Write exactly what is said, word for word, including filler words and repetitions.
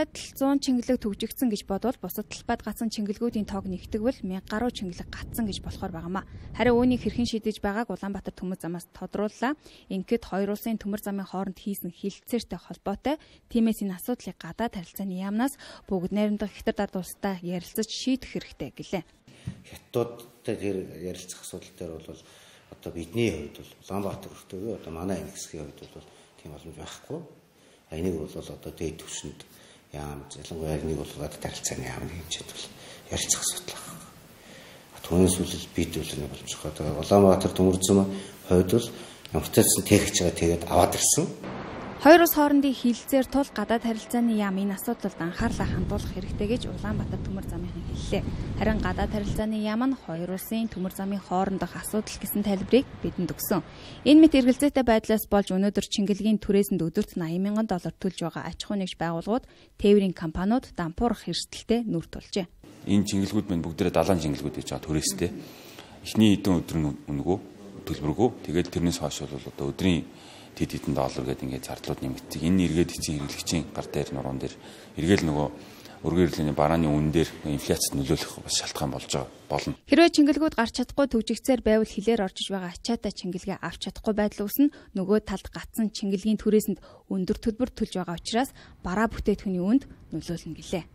талбайд зуун чингэлэг төгжигдсэн гэж бодвол бусад талбайд гацсан чингэлгүүдийн тоог нэгтгэвэл мянга гаруй чингэлэг гацсан гэж болохоор байгаамаа. Харин үүнийг хэрхэн шийдэж байгааг Улаанбаатар төмөр замаас тодрууллаа. Ингээд хоёр улсын төмөр замын хооронд хийсэн хилцээртэй холбоотой. Тиймээс энэ асуудлыг гадаад харилцааны яамнаас бүгд найрамдах Хятад ард улстай ярилцаж шийдэх хэрэгтэй гэлээ. Хятадтай тэр ярилцах асуудал дээр бол одоо бидний хувьд бол Улаанбаатар өртөө одоо манай энэ хэсгийн хувьд бол тийм боломж байхгүй. Энийг бол одоо дээд түвшинд яам ялангуяа нэг бол гадаад харилцааны яам хэмжээд бол ярилцах асуудал байна. Түүнээс үл бид бол нэг боломжтой. Одоо Улаанбаатар төмөр зам хувьд бол ямарчсан техникч байгаа тэгээд аваад ирсэн. Хоёр улс хоорондын хилцээр тул гадаад харилцааны яам энэ асуудалд анхаарлаа хандуулах хэрэгтэй гэж Улаанбаатар төмөр замынхан хэллээ. Харин гадаад харилцааны яам нь хоёр улсын төмөр замын хоорондох асуудал гэсэн тайлбарыг бидэнд өгсөн. Энэ мэт эргэлзээтэй байдлаас болж өнөөдөр Чингэлгийн түрээсэнд өдөрт найман мянган доллар төлж байгаа аж ахуй нэгж байгууллагууд тээврийн компаниуд дампуурах эрсдэлтэй нүр тулжээ. Энэ чингэлгүүд мань бүгдээрээ далайн чингэлгүүд гэж байгаа түрээстэй. Эхний хэдэн өдөр нь өнгөө төлбөргүй. Тэгээд тэрнээс хойш бол одоо өдрийн тэд хэдэн доллар гэдэг ингээд зардлууд нэмэгддэг. Энэ эргээд эцсийн хэрэглэгчийн гар дээр нуруунд дээр эргээл нөгөө өргөн хэрэглээний барааны үн дээр инфляцид нөлөөлөх бас шалтгаан болж байгаа болно. Хэрвээ чингэлгүүд гарч чадахгүй төвжигцээр байвал хилээр оржиж байгаа ачаатай чингэлгээ авч чадахгүй байдал үүснэ. Нөгөө талд гацсан чингэлгийн түрээсэнд өндөр төлбөр төлж байгаа учраас бараа бүтээтгүний үнд нөлөөлнө гэлээ.